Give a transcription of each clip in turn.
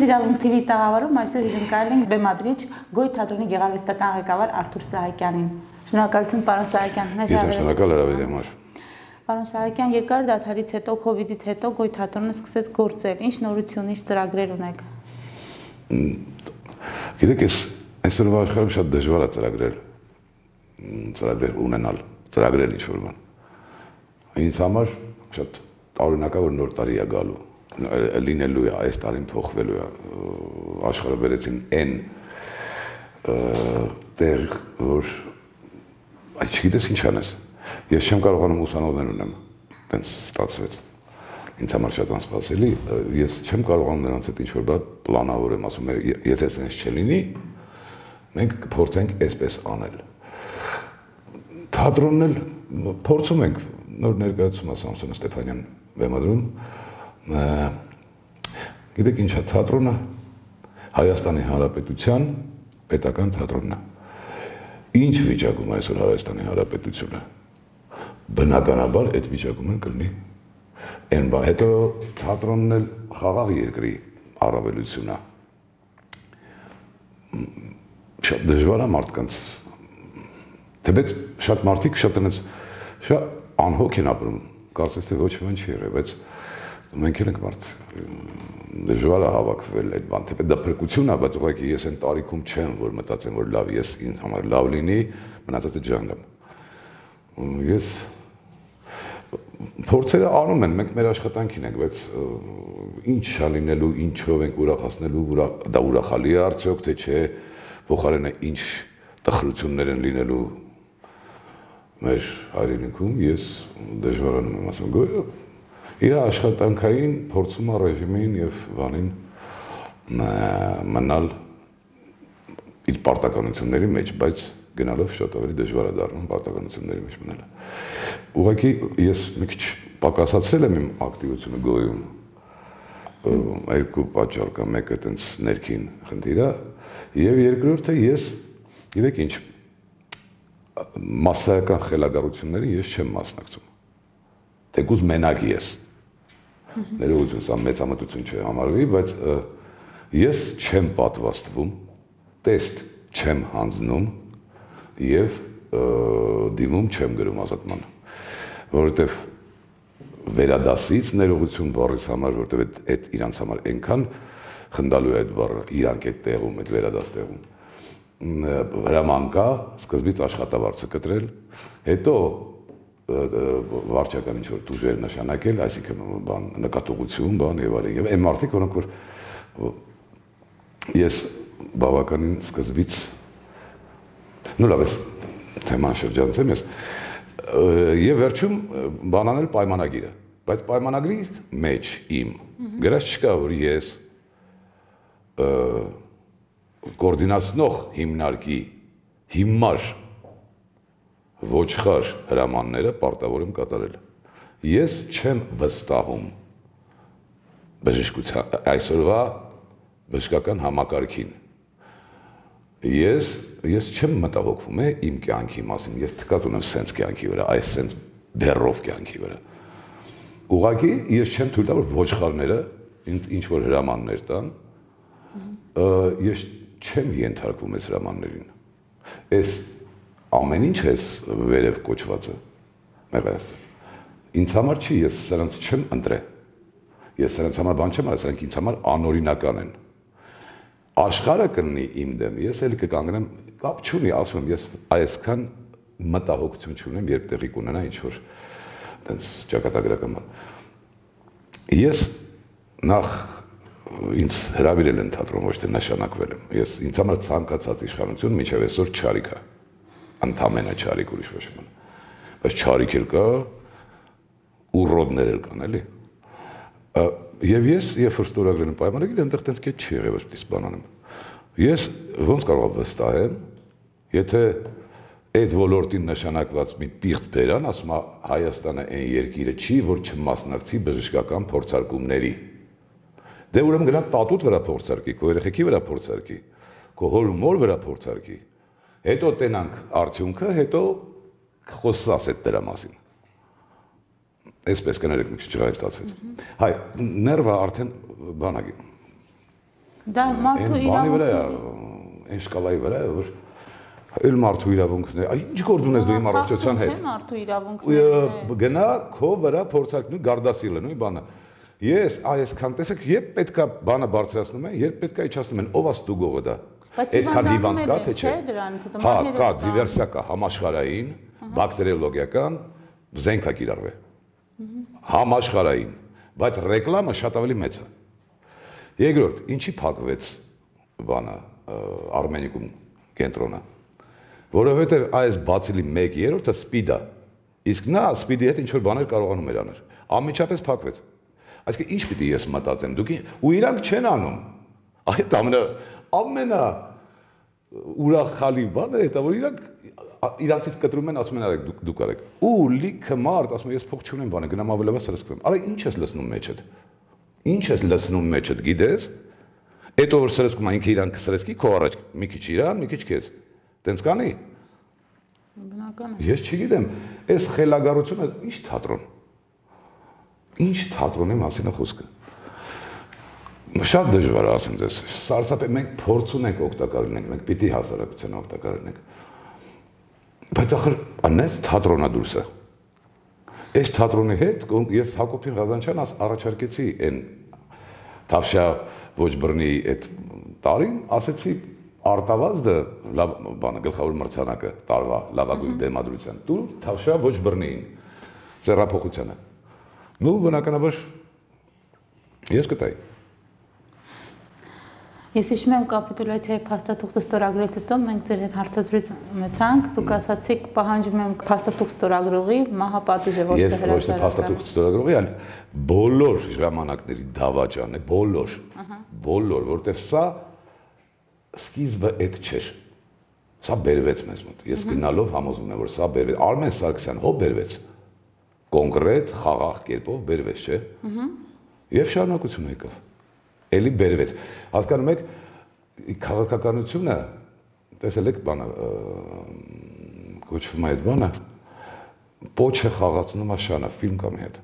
Իրավունք TV-ի տաղավարում այսօր հյուրընկալել ենք բեմադրիչ Գոյ թատրոնի գեղարվեստական ղեկավար Արթուր Սահակյանին։ Շնորհակալություն, պարոն Սահակյան։ Ես շնորհակալ հրավերի համար։ Պարոն Սահակյան, երկար դադարից հետո, COVID-ից հետո Գոյ թատրոնը սկսեց գործել։ Ինչ նորություն, ինչ ծրագրեր ունեք։ Գիտեք, այսօրվա աշխարհում շատ դժվար է ծրագրեր ունենալ, ծրագրել ինչ-որ բան։ Ինձ համար շատ տարօրինակ է, որ նոր տարի է գալու, լինելու է, այս տարին փոխվելու է, աշխարհը բերեցին այն տեղ, որ չգիտես ինչ անես։ Ես չեմ կարողանում ուսանողներ ունեմ, տենց ստացվեց։ Ինձ համար շատ անսպասելի, ես չեմ կարողանում նրանց հետ ինչ-որ բան պլանավորեմ, ասում եմ, եթե սենց չլինի, մենք կփորձենք այսպես անել։ Թատրոնն էլ փորձում ենք, նոր ներկայացում է Սամսոն Ստեփանյան բեմադրում, գիտեք ինչ է թատրոնը, Հայաստանի Հանրապետության պետական թատրոնն է։ Ինչ վիճակում այսօր Հայաստանի Հանրապետությունը, բնականաբար այդ վիճակում էլ կլինի այն բան, հետո թատրոնն էլ խաղաղ երկրի առավելություն է։ Շատ դժվար է մարդկանց, թեպետ շատ մարդիկ շատ անհոգ են ապրում, կարծես թե ոչ մի բան չի եղել, բայց մենք էլ ենք մարդ, դժվար է հավաքվել այդ բան, թեպետ դա փրկություն է, բայց ուղղակի ես այն տարիքում չեմ, որ մտածեմ, որ լավ, ես ինձ համար լավ լինի, մնացածը ջանգամ։ Ես փորձերը անում են, մենք մեր աշխատանքին ենք, բայց ինչ է լինելու, ինչով ենք ուրախացնելու, դա ուրախալի է արդյոք, թե չէ, փոխարենը ինչ տխրություններ են լինելու մեր հայրենիքում, ես դժվարանում եմ ասում, Գոյը իր աշխատանքային փորձում է ռեժիմին և բանին մնալ իր պարտականությունների մեջ, բայց գնալով շատ ավելի դժվար է դառնում պարտականությունների մեջ մնալը։ Ուղղակի ես մի քիչ պակասացրել եմ իմ ակտիվությունը Գոյում, երկու պատճառ կա, մեկը տենց ներքին խնդիր է, և երկրորդը ես, գիտեք ինչ, մասսայական խելագարությունների ես չեմ մասնակցում, թեկուզ մենակ ես, ներողություն, սա մեծամտություն չի համարվի, բայց ես չեմ պատվաստվում, տեստ չեմ հանձնում և դիմում չեմ գրում ազատման, որովհետև վերադասից ներողություն բառից համար, որովհետև այդ իրանց համար այնքան խնդալու է այդ բառը, իրանք այդ տեղում, այդ վերադաս տեղում, հրաման կա, սկզբից աշխատավարձը կտրել, հետո վարչական ինչ-որ տուժեր նշանակել, այսինքն նկատողություն, բան և այլն, և այն մարդիկ, որոնք որ ես բավականին սկզբից, լավ ես թեման շրջանցեմ ես, և վերջում բան անել պայմանագիրը, բայց պայմանագրի մեջ իմ գրած չկա, որ ես կոորդինացնող հիմնարկի հիմար ոչխար հրամանները պարտավոր եմ կատարել։ Ես չեմ վստահում այսօրվա բժշկական համակարգին։ Ես չեմ մտահոգվում իմ կյանքի մասին, ես թքած ունեմ սենց կյանքի վրա, այս սենց բեռով կյանքի վրա։ Ուղղակի ես չեմ թույլ տա, որ ոչխարները ինձ ինչ-որ հրամաններ տան, ես չեմ ենթարկվում այս հրամաններին։ Այս ամեն ինչ ես վերև կոչվածը, ինձ համար չի, ես սրանց չեմ ընտրել, ես սրանց համար բան չեմ արել, սրանք ինձ համար անօրինական են։ Աշխարհը կլինի իմ դեմ, ես էլ կկանգնեմ, կապ չունի, ասում եմ, ես այսքան մտահոգություն չունեմ, երբ տեղի կունենա ինչ-որ տենց ճակատագրական բան։ Ես նախ ինձ հրավիրել են թատրոն, ոչ թե նշանակվել եմ, ինձ համար ցանկացած իշխանություն մինչև այսօր չարիք է, ընդամենը չարիք ուրիշ ոչ մի բան, բայց չարիք էլ կա, ուռոդներ էլ կան, էլի։ Եվ ես, երբ որ ստորագրել եմ պայմանագիրը, այնտեղ տենց կետ չի եղել, որ պիտի սպանանեմ։ Ես ոնց կարող վստահեմ, եթե այդ ոլորտին նշանակված մի պիղծ բերան, ասում է Հայաստանը այն երկիրը չի, որ չմասնակցի բժշկական փորձարկումների։ Դե ուրեմն գնա տատուտ վրա փորձարկի, քո երեխեքի վրա փորձարկի, քո հոր ու մոր վրա փորձարկի, հետո տենանք արդյունքը, հետո խոսաս այդ դրա մասին։ Այսպես կներեք մի քիչ ջղային ստացվեց։ Հայ, ներվը արդեն բանագի։ Դա մարդու իրավունքները այն շկալայի վրա է, որ այլ մարդու իրավունքներ, ինչ գործ ունես դու իմ առողջության հետ։ Չէ մարդու իրավունքները։ Գնա քո վրա փորձարկնու գարդասիլը, նույն բանը։ Ես այսքան տեսեք, երբ պետքա բանը բարձրացնում են, երբ պետքա իջացնում են, ով է ստուգողը դա։ Այդքան հիվանդ կա թե չէ։ Հա, կա, դիվերսիա կա, համաշխարհային, բակտերիոլոգիական, զենք է կիրառվել։ Համաշխարհային, բայց ռեկլամը շատ ավելի մեծ է։ Երկրորդ, ինչի փակվեց բանը Արմենիկում կենտրոնը։ Որովհետև այս բացիլի 1/3-ը սպիդ է։ Իսկ նա սպիդի հետ ինչ որ բաներ կարողանում էր անել։ Անմիջապես փակվեց։ Այսինքն ինչ պիտի ես մտածեմ, դուք ու իրանք չեն անում։ Այդ ամենա ուրախալի բանը է, որ իրանք իրանցից կտրում են, ասում են արեք դուք արեք։ Ու լիքը մարդ ասում է ես փող չունեմ, բանը գնամ ավելովա սրսկվեմ։ Արա ինչ ես լցնում մեջդ։ Ինչ ես լցնում մեջդ, գիտես։ Այդ որ սրսկում ինքը իրանք սրսկի քո առաջ մի քիչ իրան, մի քիչ քեզ։ Տենց կանի։ Բնական է։ Ես չգիտեմ, այս խելագարությունը ինչ թատրոն։ Ինչ թատրոնի մասին է խոսքը։ Շատ դժվար է ասեմ դες։ Սարսափ է, մենք փորձ ունենք օգտակար լինենք, մենք պիտի հասարակության օգտակար լինենք։ Բայց ախր անես թատրոնա դուրսը։ Այս թատրոնի հետ ես Հակոբին Ղազանչյան առաջարկեցի այն Թավշյա ոչ բռնի այդ տարին, ասեցի Արտավազդը լավ բանը գլխավոր մրցանակը տարվա լավագույն բեմադրության դու Թավշյա ոչ բռնին ձեռափոխությանը։ Նու բնականաբար ես կտայի։ Ես հիշում եմ կապիտուլյացիայի փաստաթուղթը ստորագրելուց հետո մենք ձեր հետ հարցազրույց ունեցանք, դուք ասացիք պահանջում եմ փաստաթուղթ ստորագրողի մահապատիժը ոչ թե հրաժարական։ Ես ոչ թե փաստաթուղթ ստորագրողի, այլ բոլոր ժամանակների դավաճան է, բոլոր, որտեղ սա սկիզբը այդ չէր։ Սա բերվեց մեզ մոտ։ Ես գնալով համոզվում եմ, որ սա բերվեց։ Արմեն Սարգսյան հո բերվեց։ Կոնկրետ խաղաղ կերպով բերվեց, չէ՞։ Եվ շարունակություն եկավ։ Էլի բերվեց։ Հասկանում եք, քաղաքականությունը, տեսել եք բանը, կոչվում է այդ բանը, պոչը խաղացնում է շանը, ֆիլմ կա մի հետ։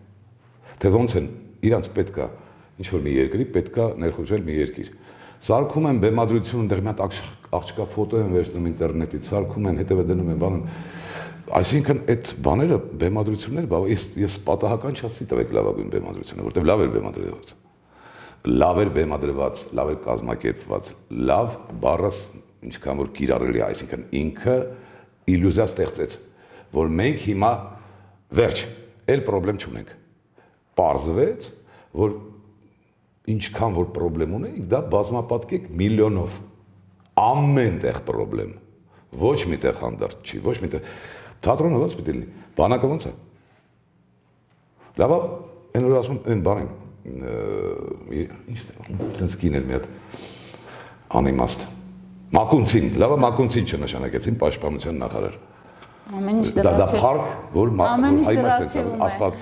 Թե ոնց են, իրանց պետքա, ինչ-որ մի երկրի պետքա ներխուժել մի երկիր։ Սարքում են բեմադրություն, ընդեղ մի հատ աղջկա ֆոտո են վերցնում ինտերնետից, սարքում են, հետևը դնում են, բանում։ Այսինքն այդ բաները, բեմադրությունները, ես պատահական չասի տվեք լավագույն բեմադրությունը, որտեղ լավ էր բեմադրված։ Լավ էր բեմադրված, լավ էր կազմակերպված, լավ բառը ինչքան որ կիրառելի է, այսինքն ինքը իլյուզիա ստեղծեց, որ մենք հիմա վերջ, էլ պրոբլեմ չունենք։ Պարզվեց, որ ինչքան որ պրոբլեմ ունենք, դա բազմապատկեք միլիոնով, ամեն տեղ պրոբլեմ, ոչ մի տեղ հանդարտ չի, ոչ մի տեղ, թատրոնը ոնց պիտի լինի, բանակը ոնց է։ Լավ, այն որ ասում են բանին, ինչ կիներ մի հատ անիմաստ, Մակունցին, լավը Մակունցին չնշանակեցին պաշտպանության նախարար։ Ամեն ինչ դա փառք, որ ասֆալտ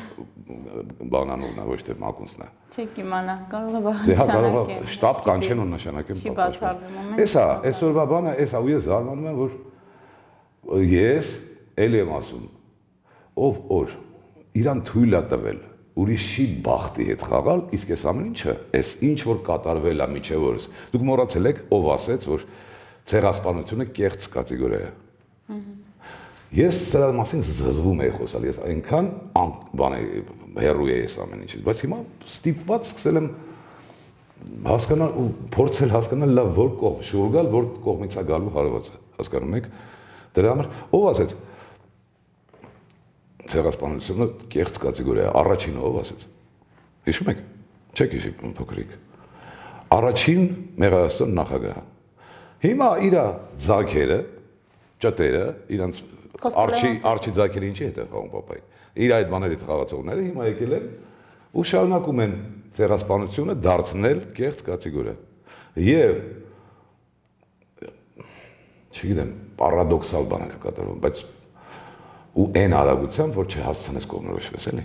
բանանուրն է, ոչ թե Մակունցն է։ Չեք իմանա, կարող է կարող է շտաբ կանչեն ու նշանակեն։ Չի բացառվում։ Էսա, այսօրվա բանը, էսա ու ես զարմանում եմ, որ ես էլ եմ ասում, ով օր իրան թույլ է տվել ուրիշի բախտի հետ խաղալ, իսկ այս ամեն ինչը, այս ինչ որ կատարվել է միջև օրս, դուք մոռացել եք, ով ասեց, որ ցեղասպանությունը կեղծ կատեգորիա է։ Ես սրա մասին զզվում եի խոսալ, ես այնքան բան հեռու էի այս ամեն ինչից, բայց հիմա ստիպված սկսել եմ հասկանալ ու փորձել հասկանալ լավ որ կողմ շուրգալ, որ կողմից է գալու հարվածը, հասկանում եք։ Դրա համար ով ասեց ցեղասպանությունը կեղծ կատեգորիա է, առաջինը ով ասեց։ Հիշում եք։ Չեք հիշում փոքրիկ։ Առաջին Մեղրաստան նախագահը։ Հիմա իր ձագերը, ճտերը, իրանց արչի ձագերը ինչի հետ են խաղում պապայի։ Իր այդ բաների խաղացողները հիմա եկել են ու շարունակում են ցեղասպանությունը դարձնել կեղծ կատեգորիա։ Եվ չգիտեմ, պարադոքսալ բաներ է կատարվում, բայց ու այն արագությամբ, որ չհասցնես կողմնորոշվես, էլի։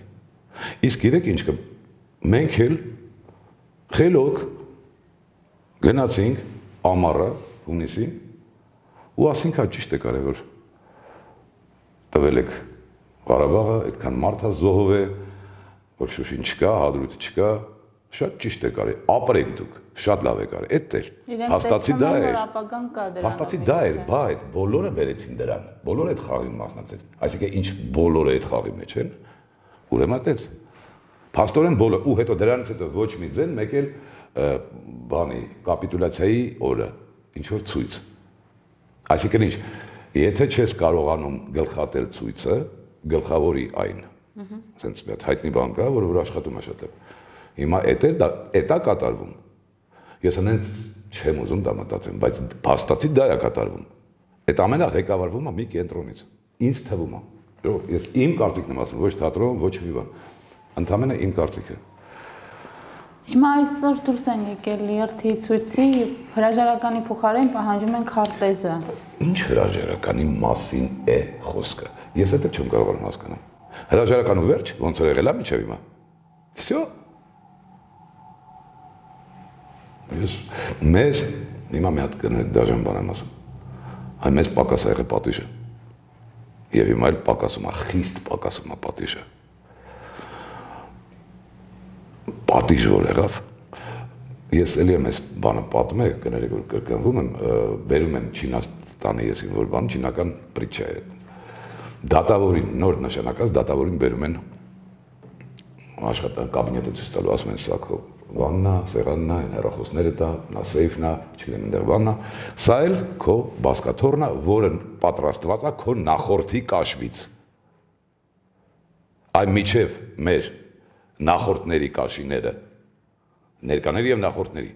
Իսկ գիտեք ինչ կա, մենք էլ խելոք գնացինք ամառը հունիսին ու ասինք հա ճիշտ է կարևոր տվել եք Ղարաբաղը, այդքան մարդ է զոհով է, որ Շուշին չկա, Հադրութը չկա, Շատ ճիշտ է կարի, ապրեք դուք, շատ լավ է կարի, այդ էր, փաստացի դա էր, փաստացի դա էր, բայց բոլորը բերեցին դրան, բոլորը այդ խաղին մասնակցեցին, այսինքն ինչ բոլորը այդ խաղի մեջ են, ուրեմն այդպես, փաստորեն բոլորը, ու հետո դրանից հետո ոչ մի ձեն, մեկ էլ բանի, կապիտուլյացիայի օրը, ինչ որ ցույց, այսինքն ինչ, եթե չես կարողանում գլխատել ցույցը, գլխավորի այն, սենց մի հատ հայտնի բան կա, որ աշխատում է շատ է։ Հիմա էտա կատարվում։ Ես հենց չեմ ուզում դա մտածեմ, բայց փաստացի դա է կատարվում։ Այդ ամենը ղեկավարվում է մի կենտրոնից։ Ինձ թվում է։ Ես իմ կարծիքն եմ ասում, ոչ թատրոն, ոչ մի բան։ Ընդամենը իմ կարծիքը։ Հիմա այսօր դուրս են եկել երթի ցույցի հրաժարականի փոխարեն պահանջում են քարտեզը։ Ինչ հրաժարականի մասին է խոսքը։ Ես դա չեմ կարողանում հասկանալ։ Հրաժարականու վերջ ոնց որ եղել է միջև հիմա։ Всё։ Մեզ հիմա մի հատ դաժան բան եմ ասում։ Այ մեզ պակաս ա եղել պատիժը։ Եվ հիմա էլ պակասում է, խիստ պակասում է պատիժը։ Պատիժ որ եղավ։ Ես էլի եմ այս բանը պատմում եմ, կներեք որ կրկնվում եմ, բերում են Չինաստանի եսին որ բան, չինական պրիչա է։ Դատավորին, նոր նշանակած դատավորին բերում են աշխատան կաբինետը ցույց տալու, ասում են սա քո բանն է, սեղանն է, հեռախոսները դա, նա սեյֆն է, չգիտեմ այնտեղ բանն է, սա էլ քո բազկաթոռն է, որը պատրաստված է քո նախորդի կաշվից։ Այ միջև մեր նախորդների կաշիները, ներկաների և նախորդների,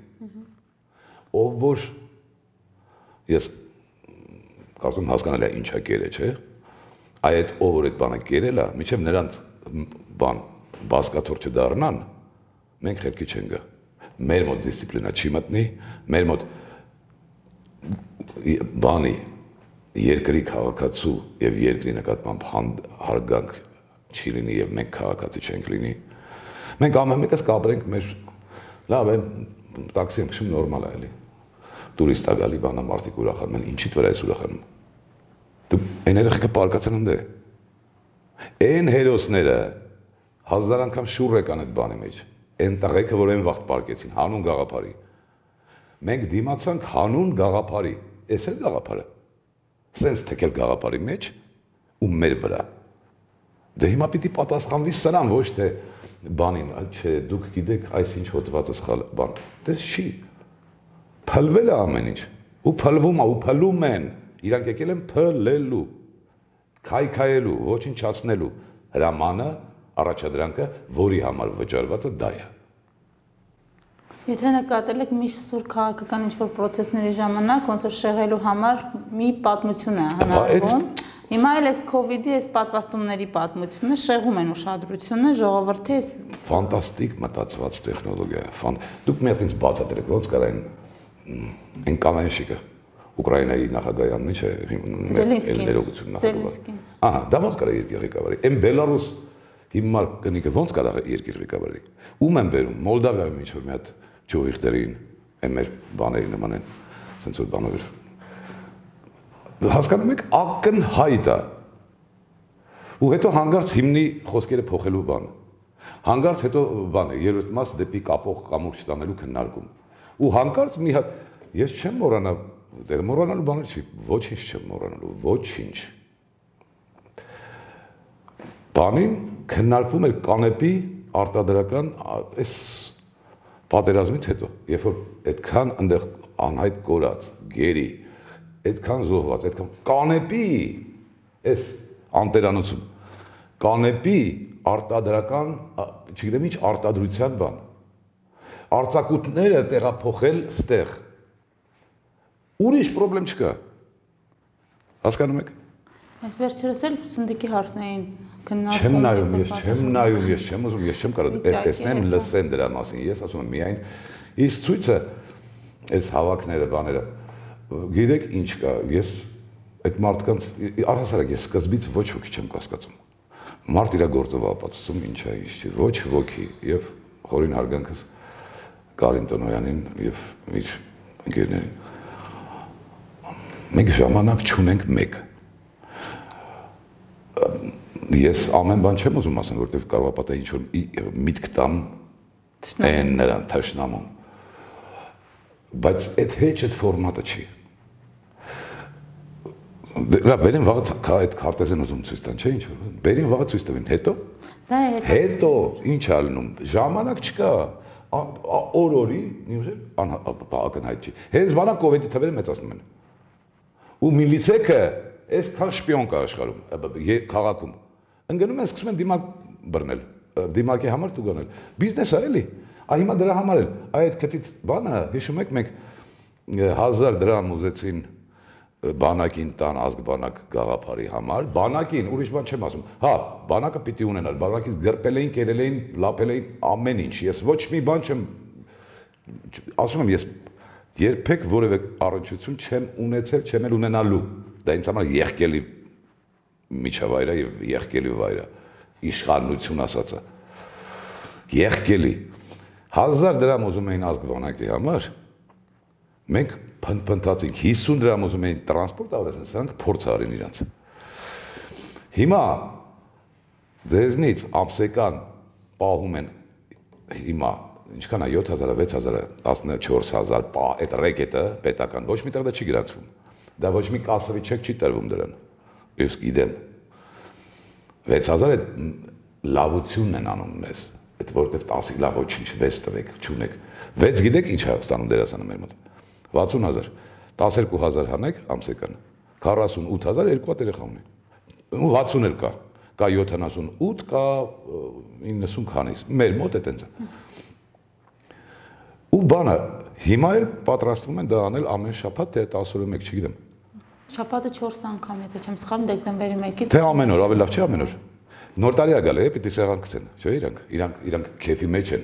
ով որ ես կարծում հասկանալ է ինչա կերը, չէ, այ այդ ով որ այդ բանը կերել է, միջև նրանց բան բազկաթոռ չդառնան, մենք խելքի չեն գա, մեր մոտ դիսցիպլինա չի մտնի, մեր մոտ բանի երկրի քաղաքացու և երկրի նկատմամբ հարգանք չի լինի և մենք քաղաքացի չենք լինի, մենք ամեն մեկս կապրենք մեր, լավ է, տաքսի եմ քշում նորմալ է էլի, տուրիստ է գալի բանա մարդիկ ուրախանում են, ինչիդ վրա ես ուրախանում, դու այն երեխեքը պարկացան ընդ է, այն հերոսները հազար անգամ շուռ եկան այդ բանի մեջ, այն տղեկը, որ այն վաղտ պարկեցին, հանուն գաղափարի, մենք դիմացանք հանուն գաղափարի, ես էլ գաղափարը, սենց թեկել գաղափարի մեջ ու մեր վրա, դե հիմա պիտի պատասխանվի սրան, ոչ թե բանին, չէ, դուք գիտեք այս ինչ հոտվածը սխալ բան, դες չի, փլվել է ամեն ինչ, ու փլվում է, ու փլում են, իրանք եկել են փլելու, քայքայելու, ոչնչացնելու, հրամանը, առաջադրանքը, որի համար վճարվածը դա է։ Եթե նկատել եք մի սուր քաղաքական ինչ-որ պրոցեսների ժամանակ, ոնց որ շեղելու համար մի պատմություն է հնարվում, հիմա էլ այս COVID-ի այս պատվաստումների պատմությունը շեղում են ուշադրությունը, ժողովրդի այս ֆանտաստիկ մտածված տեխնոլոգիա է, դուք մի հատ ինձ բացատրեք, ոնց կար այն կանայշիկը, Ուկրաինայի նախագահյանն ինչ է, ներողություն նախագահ։ Ահա, դա ոնց կարա երկիր ղեկավարի, այն Բելարուս հիմար կնիկը ոնց կարա երկիր ղեկավարի, ում են բերում, Մոլդավիայում ինչ որ մի հատ ջողիղտերին, այն մեր բաների նման են, սենց որ բանով էր։ Հասկանում եք, ակնհայտ է։ Ու հետո հանգարց հիմնի խոսքերը փոխելու բան։ Հանգարց հետո բան է, երրորդ մաս դեպի կապող կամուր չտանելու քննարկում։ Ու հանգարց մի հատ, ես չեմ մոռանա, մոռանալու բաներ չի, ոչինչ չեմ մոռանալու, ոչինչ։ Բանին քննարկվում էր կանեպի արտադրական այս պատերազմից հետո, երբ որ այդքան այնտեղ անհայտ կորած, գերի, այդքան զոհված, այդքան կանեպի այս անտերանոցում, կանեպի արտադրական, չգիտեմ ինչ արտադրության բան, արձակուտները տեղափոխել ստեղ, ուրիշ պրոբլեմ չկա, հասկանում եք։ Այս վերջերս էլ սնդիկի հարցն էին քննարկում։ Չեմ նայում, ես չեմ ուզում, ես չեմ կարող տեսնեմ, լսեմ դրա մասին, ես ասում եմ միայն, իսկ ցույցը, այս հավաքները, բաները, գիտեք ինչ կա, ես այդ մարդկանց, առհասարակ ես սկզբից ոչ ոքի չեմ կասկածում, մարդ իրա գործով ապացուցում ինչ է, ինչ չի, ոչ ոքի, և խորին հարգանքս Կարին Տոնոյանին և իր ընկերներին, մենք ժամանակ չունենք մեկ, ես ամեն բան չեմ ուզում ասեմ, որտև կարող ապատա ինչ-որ միտք տամ Են նրան թշնամուն։ Բայց այդ հեչ այդ ֆորմատը չի։ Բերին վաղը այդ քարտեզն ուզում ցույց տան, չէ՞ ինչ որ։ Բերին վաղը ցույց տվին, հետո։ Հետո ինչ ալնում, ժամանակ չկա։ Օր-օրի, ակնհայտ չի։ Հենց բանա կոവിഡ്ի թվերը մեծացնում են։ Ու միլիցեքը այսքան շպիոն կա աշխարհում, քաղաքում։ Ընկնում են սկսում են դիմակ բռնել, դիմակի համար տուգանել։ Բիզնես է էլի։ Հիմա դրա համար էլ այդ քծից բանը, հիշում եք մենք 1000 դրամ ուզեցին բանակին տան ազգբանակ գաղափարի համար, բանակին, ուրիշ բան չեմ ասում, հա, բանակը պիտի ունենար, բանակից գրպել էին, կերել էին, լապել էին ամեն ինչ, ես ոչ մի բան չեմ, ասում եմ, ես երբեք որևէ առնչություն չեմ ունեցել, չեմ էլ ունենալու, դա ինձ համար եղկելի միջավայր է և եղկելի վայր է, իշխանություն ասածը, եղկելի, 1000 դրամ ուզում էին ազգբանակի համար, մենք փնթփնթացինք 50 դրամ ուզում էին տրանսպորտ ավելացնել, սրանք փորձ արին իրանց։ Հիմա ձեզնից ամսեկան պահում են հիմա ինչքան է 7000, 6000, 14000 այդ ռեկետը պետական ոչ միտեղ դա չի գրանցվում։ Դա ոչ մի կասովի չեք չի տրվում դրան։ Ես գիտեմ 6000 այդ լավությունն են անում մեզ, այդ որտեվ 10-ի լավ ոչինչ 6 տվեք, չունեք։ 6 գիտեք ինչ է ստանում դերասանը մեր մոտ։ 60000, 12000 հանեք ամսեկան, 48000 երկու հատ երեխա ունի, ու 60 էլ կա 78, կա 90 քանից, մեր մոտ է տենց է։ Ու բանը, հիմա էլ պատրաստվում են դա անել ամեն շաբաթ, թե 10 օրը մեկ, չգիտեմ։ Շաբաթը 4 անգամ, եթե չեմ սխալվում, դեկտեմբերի 1-ից։ Թե ամեն օր, ավելի լավ չի ամեն օր։ Նոր տարի է գալի, պիտի սեղան գցեն, չէ՞ իրանք քեֆի մեջ են։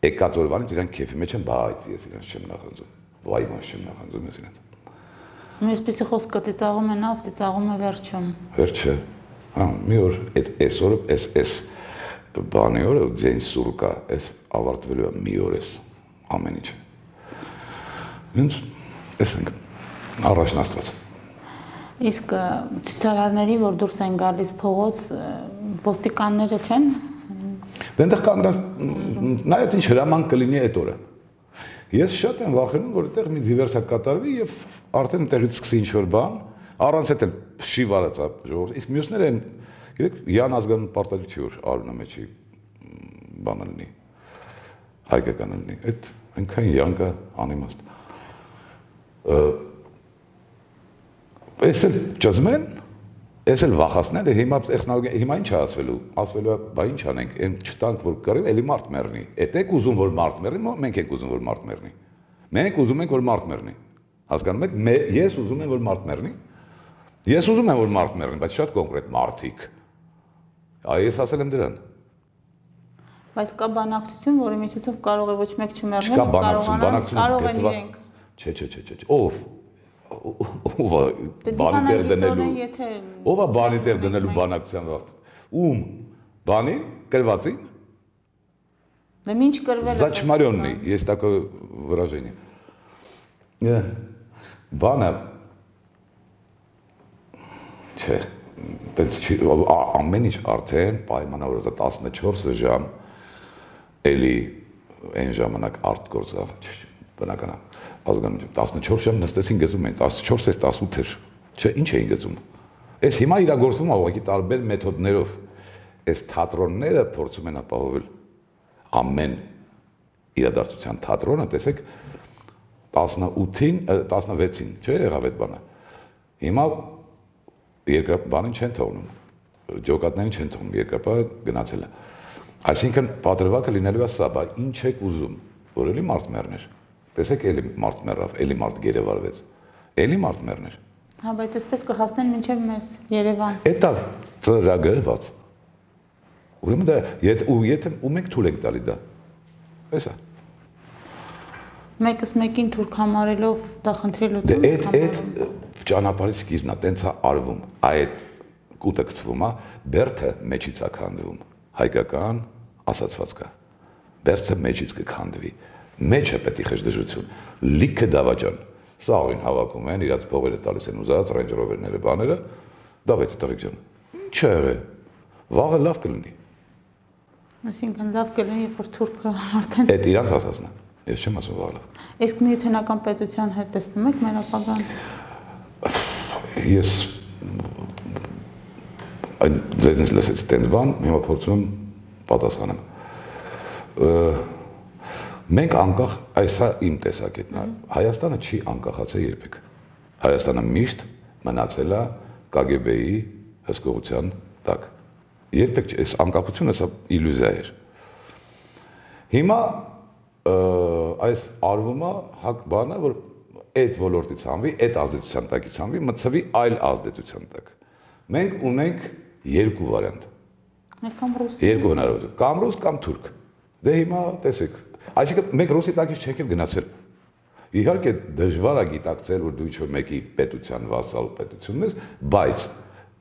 Եկած օրվանից իրանք քեֆի մեջ են, բայց ես իրանք չեմ նախանձում։ Վայ ոնց չեմ նախանձում ես իրենց։ Այսպեսի խոսքը ծիծաղում է նավ, ծիծաղում է վերջում։ Վերջը։ Հա, մի օր այսօր այս բանի օրը ձեն սուր կա, այս ավարտվելու է մի օր էս ամեն ինչ։ Ինձ տեսնենք առաջն Աստված։ Իսկ ցուցարարների, որ դուրս են գալիս փողոց, ոստիկանները չեն։ Դենտեղ կանգնած նայած ինչ հրաման կլինի այդ օրը։ Ես շատ եմ վախենում, որ այդտեղ մի դիվերսիա կատարվի եւ արդեն այդտեղից սկսի ինչ-որ բան, առանց այդ էլ շի վարածա ժողովուրդ։ Իսկ մյուսները են, գիտեք, Յան ազգանուն պարտադիր որ արունը մեջի բանը լինի, հայկական լինի, այդ այնքան յանքը անիմաստ։ Էս էլ ճզմեն, էս էլ վախացնեն, հիմա ինչ է ասվելու, ասվելու է, բա ինչ անենք, այն չտանք, որ կռիվ, էլի մարդ մեռնի, էդ եք ուզում, որ մարդ մեռնի, մենք ենք ուզում, որ մարդ մեռնի, մենք ուզում ենք, որ մարդ մեռնի, հասկանում եք, ես ուզում եմ, որ մարդ մեռնի, ես ուզում եմ, որ մարդ մեռնի, բայց շատ կոնկրետ մարդիկ, ես ասել եմ դրան։ Բայց կա բանակցություն, որի միջոցով կարող է ոչ մեկ չմեռնել, չկա բանակցություն, կարող են իրենք։ Չէ, ով է բանի տեղ դնելու, ով է բանի տեղ դնելու բանակցության վաղտ, ում բանին, կրվածին, Ինչ կրվել է։ Зачмаренный, есть такое выражение. Բանը չէ, ամեն ինչ արդեն պայմանավորված է 14 ժամ էլի այն ժամանակ արտգործող բնական ազգանունություն 14 ժամ նստեցին գծում են 14 էր 18 էր չէ ինչ էին գծում այս հիմա իրագործվում է ուղղակի տարբեր մեթոդներով այս թատրոնները փորձում են ապահովել ամեն իրադարձության թատրոնը տեսեք 18-ին 16-ին չէ եղավ այդ բանը հիմա երկրաբանին չեն թողնում ջոկատներին չեն թողնում երկրապահը գնացել է այսինքն պատրվակը լինելու է սա բա ինչ եք ուզում որ էլի մարդ մեռներ տեսեք էլի մարդ մեռավ էլի մարդ գերեվարվեց էլի մարդ մեռներ հա բայց այսպես կհասնեն մինչև մեզ Երևան էտա ծրագրված ուրեմն դա եթե ու մենք թույլ ենք տալի դա էսա մեկս մեկին թուրք համարելով դա խնդրի լուծում այդ ճանապարհի սկիզբն է տենց է արվում այդ կուտը գցվում է բերդը մեջից է քանդվում հայկական ասացված կա բերդը մեջից կքանդվի մեջը պետք է խժդժություն լիքը դավաճան սաղին հավաքում են իրաց փողերը տալիս են ուզած Range Rover-ները բաները դավեցի տղեկ ջան ինչ է եղել վաղը լավ կլինի Այսինքն լավ կլինի, որ թուրքը արդեն այդ իրանց ասածն է։ Ես չեմ ասում վաղ լավ։ Իսկ միութենական պետության հետ տեսնում եք մեր ապագան։ Ես այդ ձեզնից լսեցի տենց բան, հիմա փորձում եմ պատասխանեմ։ Մենք անկախ, այսա իմ տեսակետն է, Հայաստանը չի անկախացել երբեք։ Հայաստանը միշտ մնացել է KGB-ի հսկողության տակ։ Երբեք այս անկախությունը սա իլյուզիա էր։ Հիմա այս արվում է հակ բանը, որ այդ ոլորտից հանվի, այդ ազդեցության տակից հանվի, մտցվի այլ ազդեցության տակ։ Մենք ունենք երկու վարիանտ։ Կամ ռուս։ Երկու հնարավորություն, կամ ռուս, կամ թուրք։ Դե հիմա տեսեք, այսինքն մենք ռուսի տակից չենք գնացել։ Իհարկե դժվար է գիտակցել, որ դու ինչ-որ մեկի պետության վասալ պետությունն ես, բայց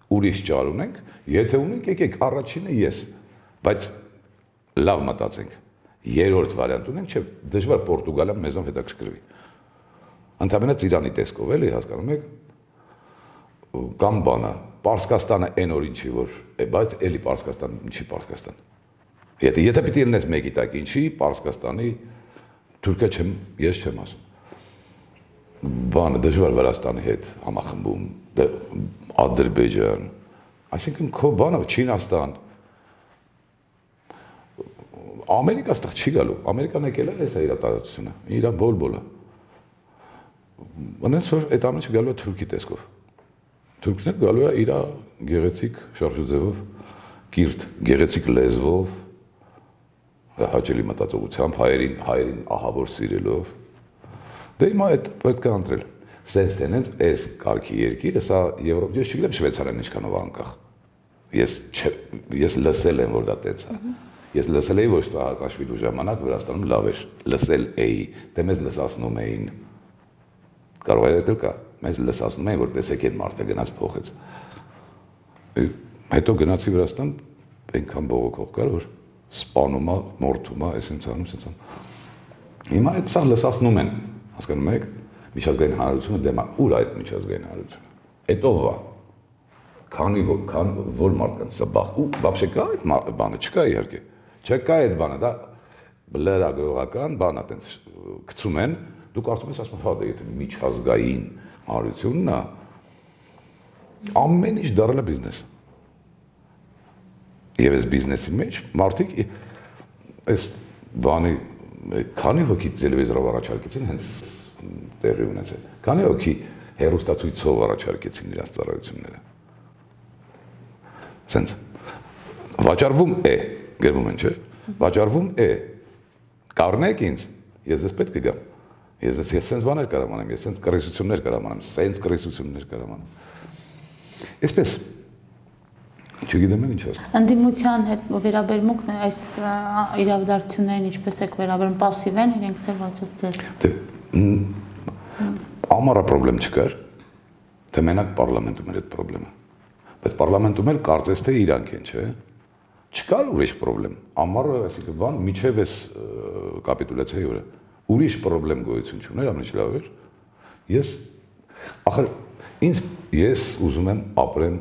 ուրիշ ճար ունենք, եթե ունենք, եկեք առաջինը ես, բայց լավ մտածենք։ Երրորդ վարիանտ ունենք, չէ, դժվար Պորտուգալիան մեզով հետաքրքրվի։ Ընդհանրապես Իրանի տեսքով էլի հասկանում եք, կամ բանը, Պարսկաստանը այն օրին չի, որ, բայց էլի Պարսկաստան, ինչի Պարսկաստան։ Եթե պիտի լինես մեկի տակ, ինչի Պարսկաստանի Թուրքիա չեմ, ես չեմ ասում։ Բանը դժվար Վրաստանի հետ համախմբում, Ադրբեջան, այսինքն քո բանը Չինաստան, Ամերիկա ստեղ չի գալու, Ամերիկան եկել է հեսա իր տարածությունը, իր բոլ-բոլը։ Ոնց որ այդ ամենը գալու է թուրքի տեսքով։ Թուրքն գալու է իր գեղեցիկ շարժուձևով, կիրթ, գեղեցիկ լեզվով, հաճելի մտածողությամբ, հայերին ահավոր սիրելով։ Դե հիմա այդ պետք է ընտրել։ Սենց տենենց այս կարգի երկիրը, սա Եվրոպա, ես չգիտեմ Շվեյցարիան ինչքանով անկախ։ Ես լսել եմ, որ դա տենց է։ Ես լսել էի, որ Սահակաշվիլու ժամանակ Վրաստանում լավ էր, լսել էի, դե մեզ լսացնում էին։ Կարող է դեռ կա, մեզ լսացնում էին, որ տեսեք այդ մարդը գնաց փոխեց։ Հետո գնացի Վրաստան, այնքան բողոքող կար, որ սպանում է, մորթում է, այսինքն անում, այսինքն։ Հիմա այդ սա լսացնում են, հասկանում եք, միջազգային հանրությունը դեմ է, ուր այդ միջազգային հանրությունը։ Այդ ով է։ Քանի որ մարդկանց սա բախ, ու բաբշե կա այդ բանը, չկա իհարկե։ Չկա այդ բանը, դա լրագրողական բան է, տենց գցում են, դու կարծում ես ասում, հա դա եթե միջազգային հանրությունն է, ամեն ինչ դառել է բիզնես։ Եվ այս բիզնեսի մեջ մարդիկ այս բանի քանի հոգի տելևիզորով առաջարկեցին հենց տեղի ունեցել։ Քանի հոգի հեռուստացույցով առաջարկեցին իրենց ծառայությունները։ Սենց վաճառվում է, գրվում են, չէ՞։ Վաճառվում է։ Կառնեք ինձ, ես դες պետք է գամ։ Ես սենց բաներ կարամ անեմ, ես սենց կռիսություններ կարամ անեմ, սենց կռիսություններ կարամ անեմ։ Այսպես չգիտեմ ինչ ասեմ։ Ընդդիմության հետ վերաբերմունքն այս իրավադարձություններին ինչպես եք վերաբերում, пассив են իրենք թե ոչ ձեզ։ Ամառա խնդրեմ չկար, թե մենակ պարլամենտում էր այդ խնդրեմը։ Բայց պարլամենտում էլ կարծես թե իրանք են, չէ՞։ Չկար ուրիշ խնդրեմ։ Ամառը, այսինքն բան, միջև էս կապիտուլյացիայի օրը ուրիշ խնդրեմ գոյություն չուներ, ամենից լավ էր։ Ախր ես ուզում եմ ապրեմ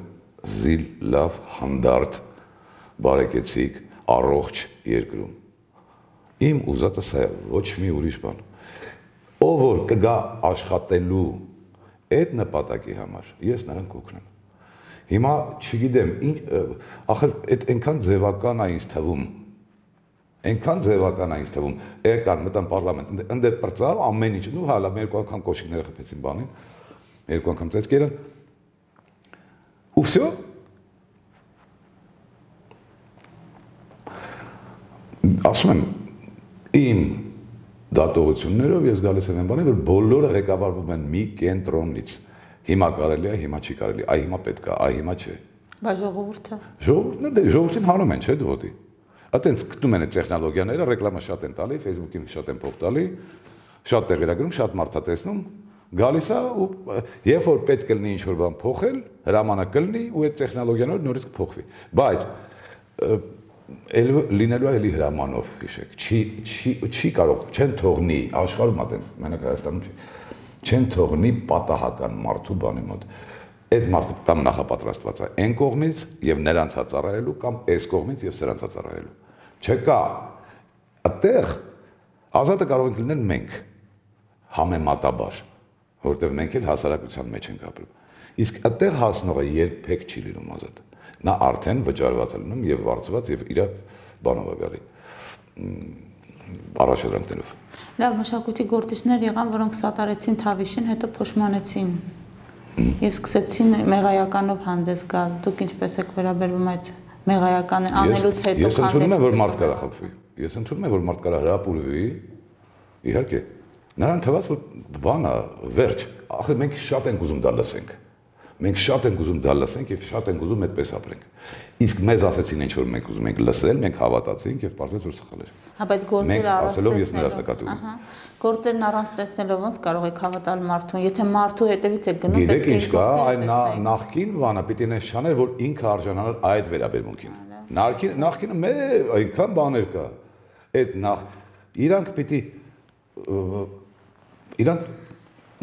զիլ, լավ, հանդարտ, բարեկեցիկ, առողջ երկրում։ Իմ ուզածը սա է, ոչ մի ուրիշ բան։ Ով որ կգա աշխատելու այդ նպատակի համար, ես նրան կօգնեմ։ Հիմա չգիտեմ, ախր այդ այնքան ձևական է ինձ թվում։ Այնքան ձևական է ինձ թվում։ Եկան մտան պարլամենտ, ընդ պրծավ ամեն ինչ, ու հալա մի երկու անգամ կոշիկները խփեցին բանին, երկու անգամ ծեծկերը։ Ու վсё։ Ասում եմ, իմ դատողություններով ես գալիս եմ այն բանի, որ բոլորը ղեկավարվում են մի կենտրոնից։ Հիմա կարելի է, հիմա չի կարելի, այ հիմա պետք է, այ հիմա չէ։ Բայց ժողովուրդը։ Ժողովուրդն դե ժողովրդին հանում են, չէ՞ դուոտի։ Այտենց գտնում են այդ տեխնոլոգիաները, ռեկլամա շատ են տալի, Facebook-ին շատ են փող տալի, շատ տեղերագրում, շատ մարդ է տեսնում, գալիս է ու երբ որ պետք կլինի ինչ-որ բան փոխել, հրամանակ կլինի ու այդ տեխնոլոգիաները նորից կփոխվի։ Բայց լինելու է էլի հրամանով, հիշեք, չի կարող, չեն թողնի, աշխարհում այտենց, մենակ Հայաստանում չի, չեն թողնի պատահական մարդու բանի մոտ։ Այդ մարդը կամ նախապատրաստված է այն կողմից եւ նրանց ծառայելու կամ այս կողմից եւ սրանց ծառայելու։ Չկա։ Այդտեղ ազատը կարող ենք լինել մենք համեմատաբար, որովհետև մենք էլ հասարակության մեջ ենք ապրում։ Իսկ այդտեղ հասնողը երբեք չի լինում ազատ։ Նա արդեն վճարված է լինում եւ վարձված եւ իր բանով է գալի։ Առաջադրանքներով։ Լավ, մշակույթի գործիչներ եղան, որոնք սատարեցին Թավիշին, հետո փոշմանեցին եւ սկսեցին մեղայականով հանդես գալ։ Դուք ինչպես եք վերաբերվում այդ մեղայական անելուց հետո։ Ես ընդունում եմ, որ մարդ կարա խփվի։ Ես ընդունում եմ, որ մարդ կարա հրապուրվի։ Իհարկե, նրան թվաց, որ բանա, վերջ։ Ախր մենք շատ ենք ուզում դա լսենք։ Մենք շատ ենք ուզում դա լսենք եւ շատ ենք ուզում այդպես ապրենք։ Իսկ մեզ ասեցին ինչ որ մենք ուզում ենք լսել, մենք հավատացինք եւ պարզվեց որ սխալ էր։ Հա, բայց գործերը ասելով ես նրանց նկատում եմ։ Ահա։ Գործերն առանց տեսնելով ոնց կարող եք հավատալ մարդուն, եթե մարդու հետևից եք գնում, պետք է ինչ կա, այն նախքին բանը պիտի նես չաներ, որ ինքը արժանանար այդ վերաբերմունքին։ Նախքինը մեր այնքան բաներ կա։ Այդ իրանք պիտի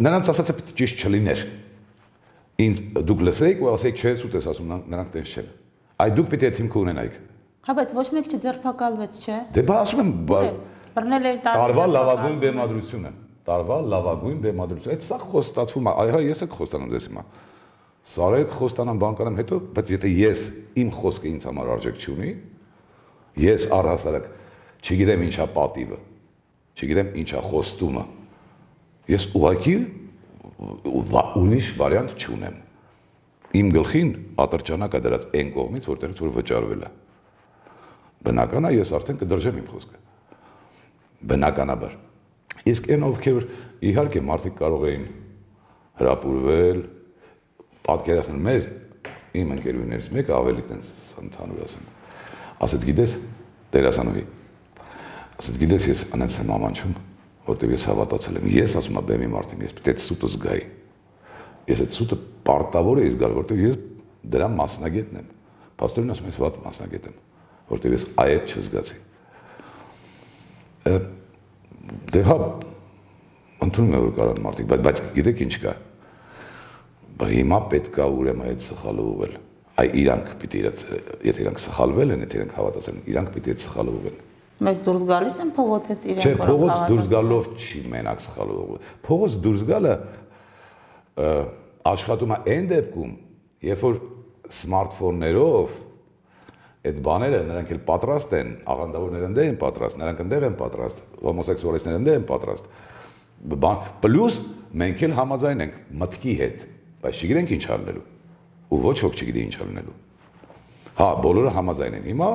նրանց ասածը պիտի ճիշտ չլիներ։ Ինձ դուք լսեիք ու ասեիք չէ, սուտ ես ասում, նրանք տես չեն։ Այդ դուք պիտի այդ հիմքը ունենայիք։ Հա, բայց ոչ մեկ չձերբակալվեց, չէ։ Դե բա ասում եմ, բռնել էլ տարվա լավագույն բեմադրությունը։ Տարվա լավագույն բեմադրություն։ Այդ սա խոստացվում է, այհա ես եք խոստանում ձեզ հիմա։ Սարեր խոստանամ, բան կանեմ հետո, բայց եթե ես իմ խոսքը ինձ համար արժեք չունի, ես առհասարակ չգիտեմ ինչա պատիվը, չգիտեմ ինչա խոստումը։ Ես ուղղակի ուրիշ վարիանտ չունեմ։ Իմ գլխին ատրճանակ է դրած այն կողմից, որտեղից որ վճարվել է։ Բնական է, ես արդեն կդրժեմ իմ խոսքը։ Բնականաբար։ Իսկ այն ովքեր իհարկե մարդիկ կարող էին հրապուրվել, պատկերացնել մեր իմ ընկերուներից մեկը ավելի տենց ընդհանուր ասեմ։ Ասեց գիտես, դերասանուհի։ Ասեց գիտես, ես անենց եմ ամանչում, որտեղ ես հավատացել եմ։ Ես ասում եմ բեմի մարդին, ես պետք է սուտը զգայի։ Ես այդ սուտը պարտավոր էի զգալ, որտեղ ես դրա մասնագետն եմ։ Պաստորին ասում ես վատ մասնագետ եմ, որտեղ ես այդ չզգացի։ Դե հա, ընդունում եմ որ կարան մարդիկ, բայց գիտեք ինչ կա։ Բա հիմա պետք է ուրեմն այդ սխալը ուղղել։ Այ իրանք պիտի եթե իրանք սխալվել են, եթե իրանք հավատացել են, իրանք պիտի այդ սխալը ուղղեն։ Բայց դուրս գալիս են փողոցից իրենք Չէ, փողոց դուրս գալով չի մենակ սխալը ուղղել։ Փողոց դուրս գալը աշխատում է այն դեպքում, երբ որ սմարթֆոններով այդ բաները նրանք էլ պատրաստ են, աղանդավորները ընդեղ են պատրաստ, նրանք ընդեղ են պատրաստ, հոմոսեքսուալիստները ընդեղ են պատրաստ։ Պլյուս մենք էլ համաձայն ենք մտքի հետ, բայց չգիտենք ինչ անելու։ Ու ոչ ոք չգիտի ինչ անելու։ Հա, բոլորը համաձայն են։ Հիմա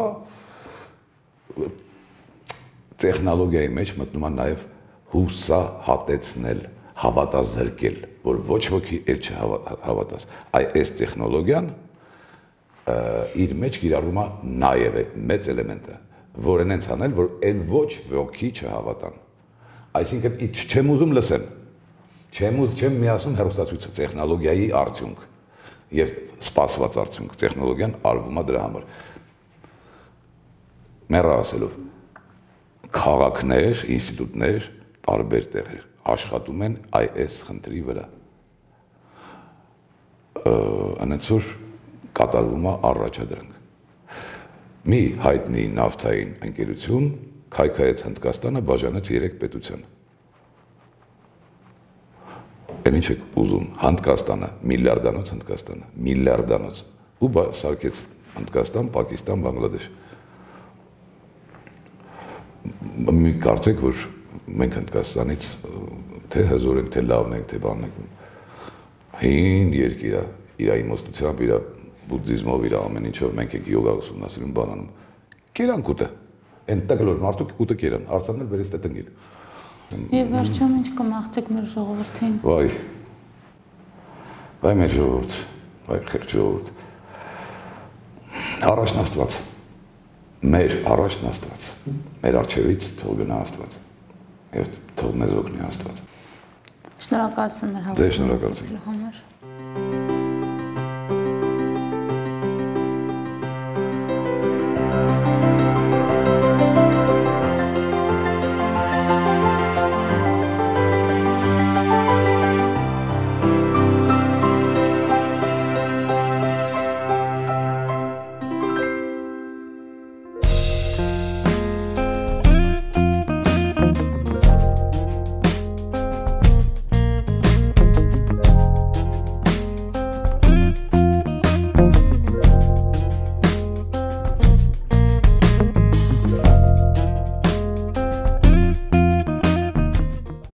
տեխնոլոգիայի մեջ մտնում է նաև հուսահատեցնել, հավատազրկել, որ ոչ ոքի էլ չհավատաս։ Այս տեխնոլոգիան իր մեջ կիրառում է նաև այդ մեծ էլեմենտը, որ են հենց անել, որ էլ ոչ ոքի չհավատան։ Այսինքն չեմ ուզում լսեն, չեմ միասում հեռուստացույցը տեխնոլոգիայի արդյունք եւ սպասված արդյունք, տեխնոլոգիան արվում է դրա համար։ Մեռա ասելով, քաղաքներ, ինստիտուտներ, տարբեր տեղեր աշխատում են այս խնդրի վրա։ Անենց որ կատարվում է առաջադրանք։ Մի հայտնի նավթային ընկերություն քայքայեց Հնդկաստանը, բաժանեց 3 պետության։ Այն ինչ եք ուզում, Հնդկաստանը, միլիարդանոց Հնդկաստանը, միլիարդանոց, ու սարքեց Հնդկաստան, Պակիստան, Բանգլադեշ։ Մի կարծեք, որ մենք Հնդկաստանից թե հզոր ենք, թե լավն ենք, թե բանն ենք, հին երկիր է, իր իմաստությամբ, իր բուդդիզմով, իր ամեն ինչով մենք ենք յոգա ուսումնասիրում, բանանում։ Կերանք ուտը, այն տակլոր մարդուկ ուտը կերան, արցանն էլ բերեց տե տնգին։ Եվ վերջում ինչ կմաղթեք մեր ժողովրդին։ Վայ մեր ժողովուրդ, վայ խեղճ ժողովուրդ։ Առաջն Աստված, մեր առաջն Աստված, մեր առջևից թող գնա Աստված, և թող մեզ օգնի Աստված։ Շնորհակալություն մեր հավատացնելու համար։